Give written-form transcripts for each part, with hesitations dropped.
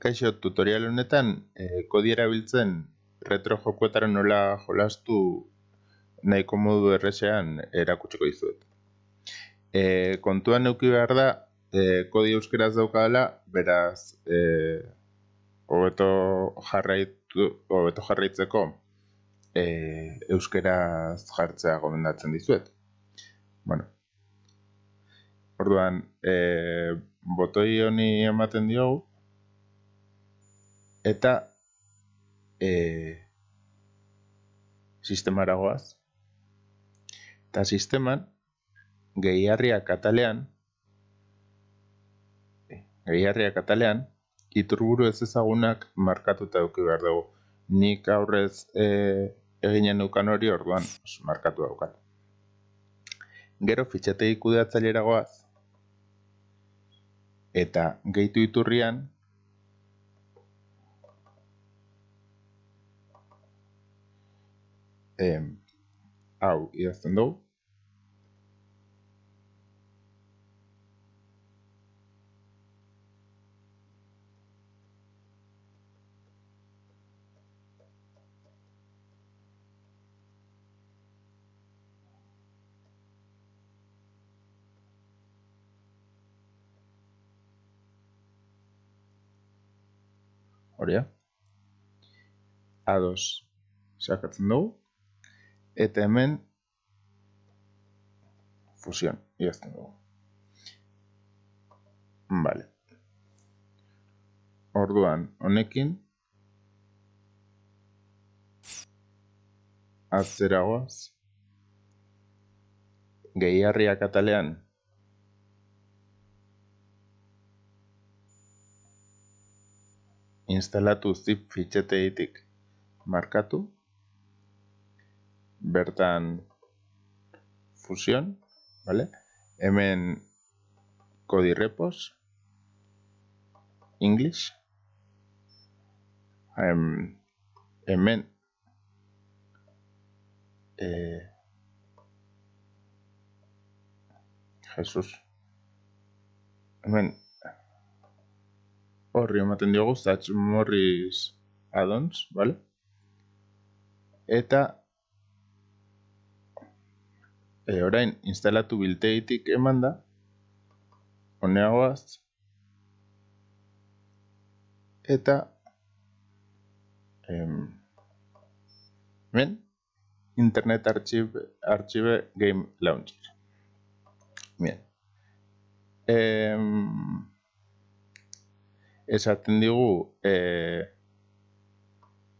Kaixo, tutorial honetan kodi erabiltzen retro jokoetara nola jolastu nahiko modu errezean erakutsiko dizuet. Kontuan eduki behar da, kodi euskeraz daukadala, beraz, hobeto jarraitzeko euskeraz jartzea gomendatzen dizuet. Bueno, orduan, botoi honi ematen diogu, eta sistemara goaz. Eta sisteman, gehigarriak atalean, iturburu ez ezagunak markatuta eduki behar dugu. Nik aurrez eginen neukan hori, orduan markatu daukat. Gero fitxategi kudeatzailera goaz, eta gehitu iturrian, hau idazten dugu. Horia. A2 sakatzen dugu. Eta hemen fusión idazten dugu. Vale. Orduan, honekin atzera goaz. Gehigarriak atalean instalatu zip fitxategitik markatu. Bertan fusión, vale? Hemen kodi repos, English. Hemen Jesus. Hemen horri ematen diogu, Zach Morris addons, vale? Eta orain instalatu biltegitik eman da, honeagoaz, eta hemen Internet Archive Game Launcher. Bien. Esaten digu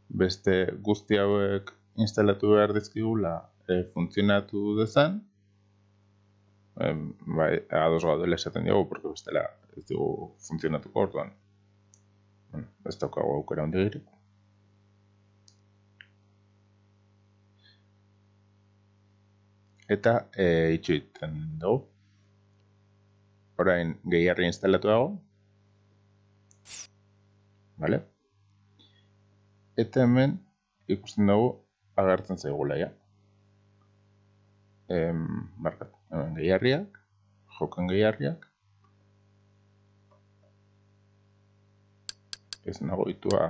beste guzti hauek instalatu behar dizkigula funtzionatu dezan. Bai, ados gaudela esaten digu, porque bestela ez digu funtzionatuko orduan. Ez daukagu aukera hondigirik. Eta itxu egiten dugu. Orain gehigarri instalatu dago. Vale? Eta hemen ikusten dugu agertzen zaigula ja. Markatu. Hemen gehigarriak, joken gehigarriak. Ez nagoitua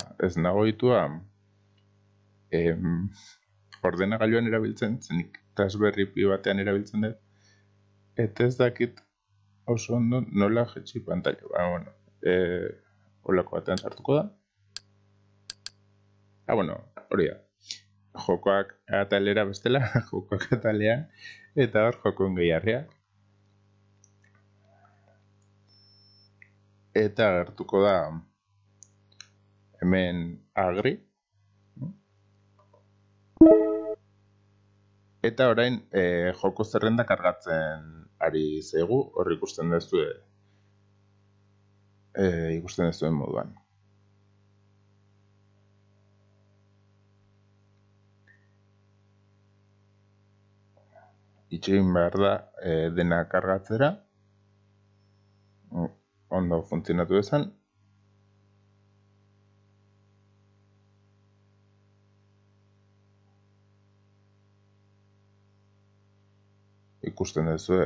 ordenagailuan erabiltzen, zenik Raspberry Pi batean erabiltzen dut. Eta ez dakit oso ondo nola jetxi pantalla. Bueno, holako batean sartuko da. Bueno, hori da. Jokoak atalera bestela, jokoak atalean, eta hor jokon gehigarriak. Eta agertuko da hemen agri. Eta orain joko zerrenda kargatzen ari zaigu, hor ikusten duzuen moduan. Itxegin behar da dena kargatzera. Ondo funtzionatu dezan. Ikusten duzu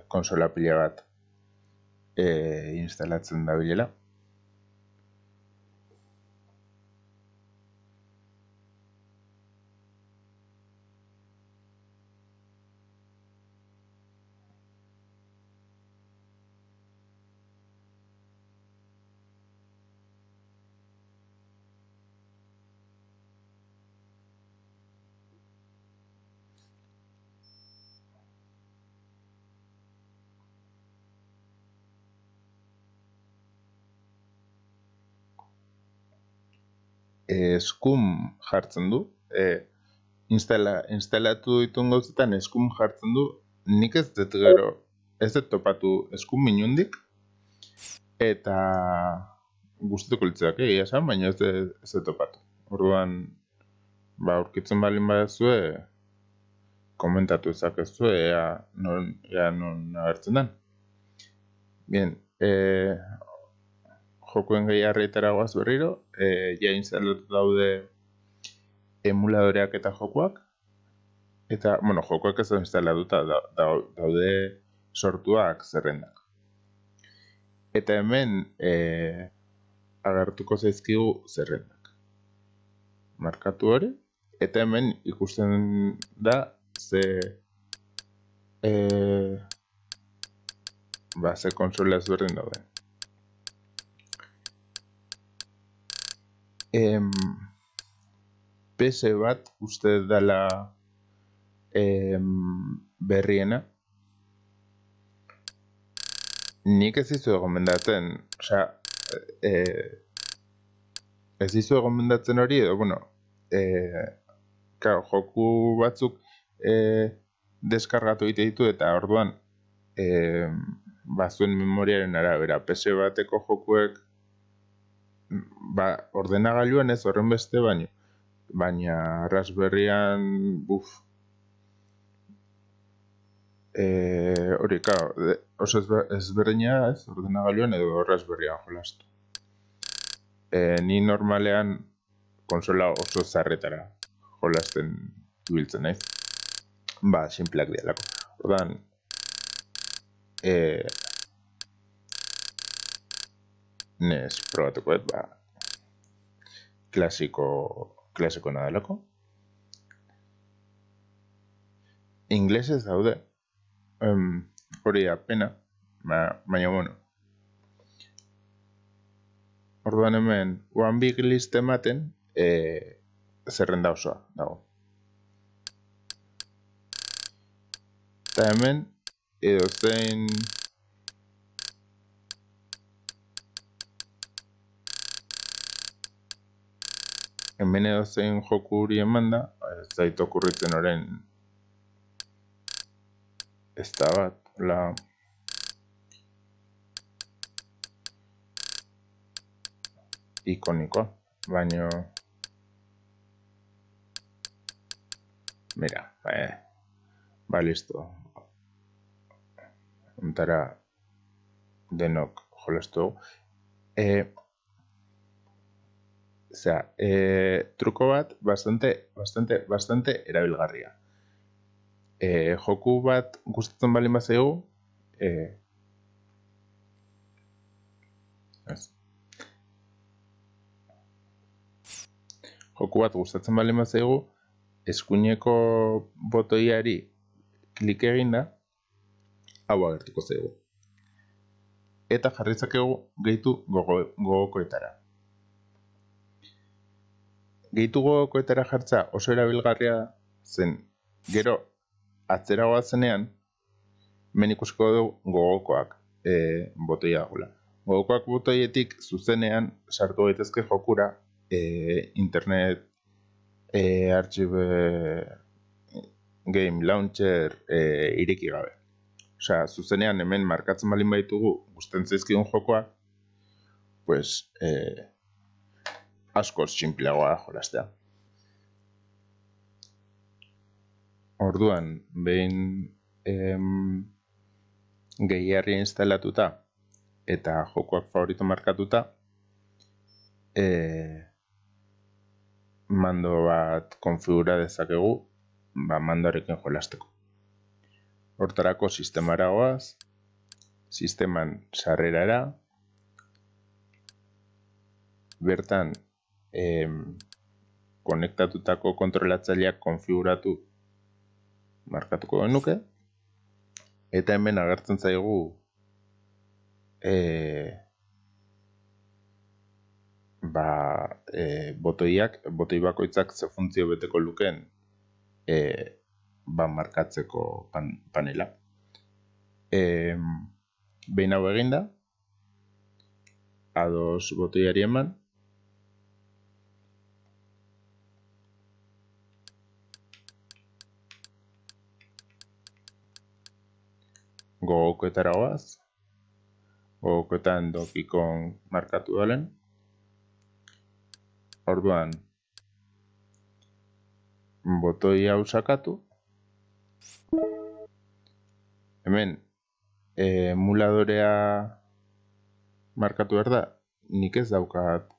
konsola pila bat instalatzen da bilela. eskum jartzen du. Instalatu dituen gauzetan eskum jartzen du. Nik ez dut gero, ez dut topatu eskum minundik. Eta guztuko litzak egia esan, baina ez dut topatu. Orduan, aurkitzen balin badazue, komentatu ezakezue, ea non agertzen den. Bien, jokuen gehiarrietara goaz berriro, ja instalatu daude emuladoreak eta jokoak, eta, jokoak ez da instalatuta daude sortuak zerrendak. Eta hemen agertuko zaizkigu zerrendak. Markatu hori, eta hemen ikusten da ze konsola ezberdin daude. PS bat uste dela berriena. Nik ez dizu gomendatzen, ez dizu gomendatzen hori edo, joku batzuk deskargatu egite ditu eta orduan bazuen memoriaren arabera PS bateko jokuek ordenagailuan ez horren beste baina Raspberryan hori, oso ezberdina ez ordenagailuan edo Raspberryan jolastu. Ni normalean konsola oso zarretara jolasten ibiltzen naiz. Sinpleak dialako. Ordan, nes probatuko klasiko nadalako. Inglesez daude. Hori apena, baina Orduan hemen, one big list ematen, zerrenda osoa dago. Eta hemen, edozein joku huri eman da, ez zait okurritzen orain ez da bat, ikonikoa, baina mira, listo. Ontara denok jolastu. Truko bat bastante erabilgarria. Joku bat gustatzen balin bazaigu, eskuineko botoiari klik eginda, hau agertuko zaigu. Eta jarritzakegu gehitu gogokoetara. Gehitu gogokoetara jartza oso erabilgarria zen, gero atzera goazenean, hemen ikusiko dugu gogokoak botoia dagoela. Gogokoak botoietik zuzenean sartu gaitezke jokura internet archive game launcher ireki gabe. Zuzenean hemen markatzen balin baitugu gustatzen zaizkigun jokoa, pues askoz sinpleagoa jolastea. Orduan, behin gehiarria instalatuta eta jokoak favorito markatuta, mando bat konfigura dezakegu, mandoarekin jolasteko. Hortarako sistemara goaz, sisteman sarrerara, bertan konektatutako kontrolatzaileak konfiguratu markatuko genuke, eta hemen agertzen zaigu botoi bakoitzak ze funtzio beteko lukeen markatzeko panela. Behin hau eginda, ados botoiari eman, gogokoetara goaz, gogokoetan dokikon markatu dalen. Orduan, botoi hau sakatu. Hemen, emuladorea markatu behar da, nik ez daukat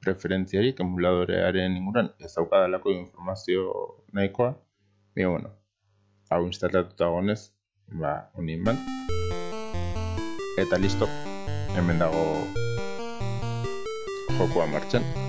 preferentziarik emuladorearen inguran, ez daukadalako informazio nahikoa. Baina, bueno, hau instalatuta gonez, honin ban. Eta listo, hemen dago jokoa martxan.